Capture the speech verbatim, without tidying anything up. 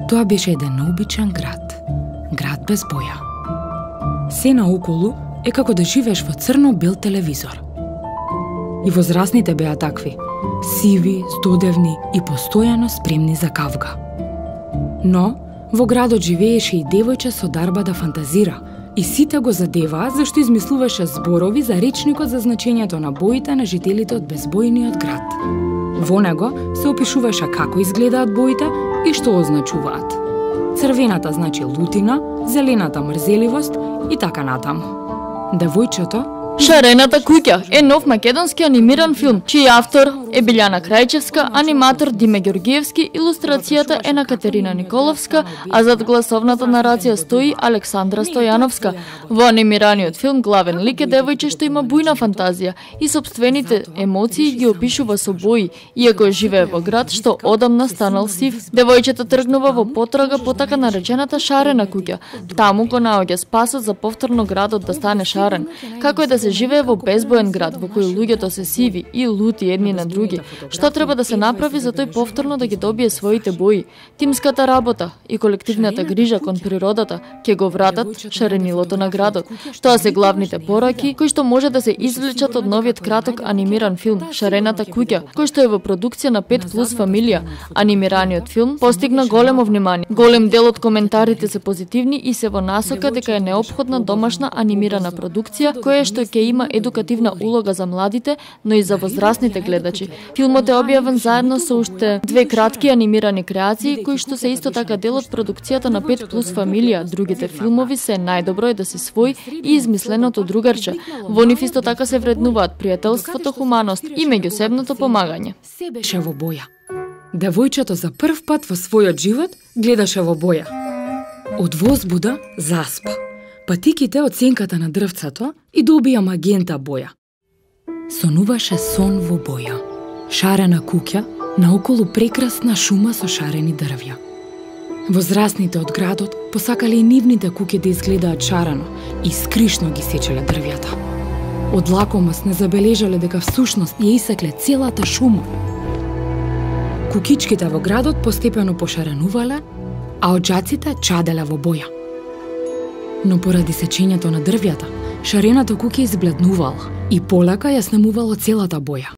Тоа беше еден необичен град. Град без боја. Се наоколу е како да живееш во црно-бел телевизор. И возрастните беа такви, сиви, здодевни и постојано спремни за кавга. Но, во градот живееше и девојче со дарба да фантазира, и сите го задеваа зашто измислуваше зборови за речникот за значењето на боите на жителите од безбојниот град. Во него се опишуваше како изгледаат боите и што означуваат. Црвената значи лутина, зелената мрзеливост и така натаму. Девојчето Шарената куќа е нов македонски анимиран филм, чиј автор е Билјана Крајчевска, аниматор Диме Ѓоргиевски, илустрацијата е на Катерина Николовска, а зад гласовната нарација стои Александра Стојановска. Во анимираниот филм главен лик е девојче што има бујна фантазија и сопствените емоции ги опишува со бои, иако живее во град што одамна станал сив. Девојчето тргнува во потрага по така наречената шарена куќа. Таму го наоѓа спасот за повторно градот да стане шарен. Како е да се живее во безбоен град во кој луѓето се сиви и лути едни на други. Што треба да се направи за тој повторно да ги добие своите бои? Тимската работа и колективната грижа кон природата ќе го вратат шаренилото на градот. Тоа се главните пораки кои што може да се извлечат од новиот краток анимиран филм Шарената куќа, кој што е во продукција на пет плюс фамилија. Анимираниот филм постигна големо внимание. Голем дел од коментарите се позитивни и се во насока дека е неопходна домашна анимирана продукција која што ќе има едукативна улога за младите, но и за возрастните гледачи. Филмот е објавен заедно со уште две кратки анимирани креации кои што се исто така дел од продукцијата на пет плюс фамилија. Другите филмови се најдобро е да си свој и измисленото другарче. Во нив исто така се вреднуваат пријателството, хуманост и меѓусебното помагање. Се беше во боја. Девојчето за прв пат во својот живот гледаше во боја. Од возбуда заспа. Патиките од сенката на дрвцето и добија магента боја. Сонуваше сон во боја. Шарена куќа, наоколу прекрасна шума со шарени дрвја. Возрастните од градот посакале и нивните куќи да изгледаат шарено и скришно ги сечеле дрвјата. Од лакомост не забележале дека всушност ја исекле целата шума. Куќичките во градот постепено пошаренувале, а оджаците чаделе во боја. Но поради сечењето на дрвјата, шарената куќа избледнувала и полека ја снемувало целата боја.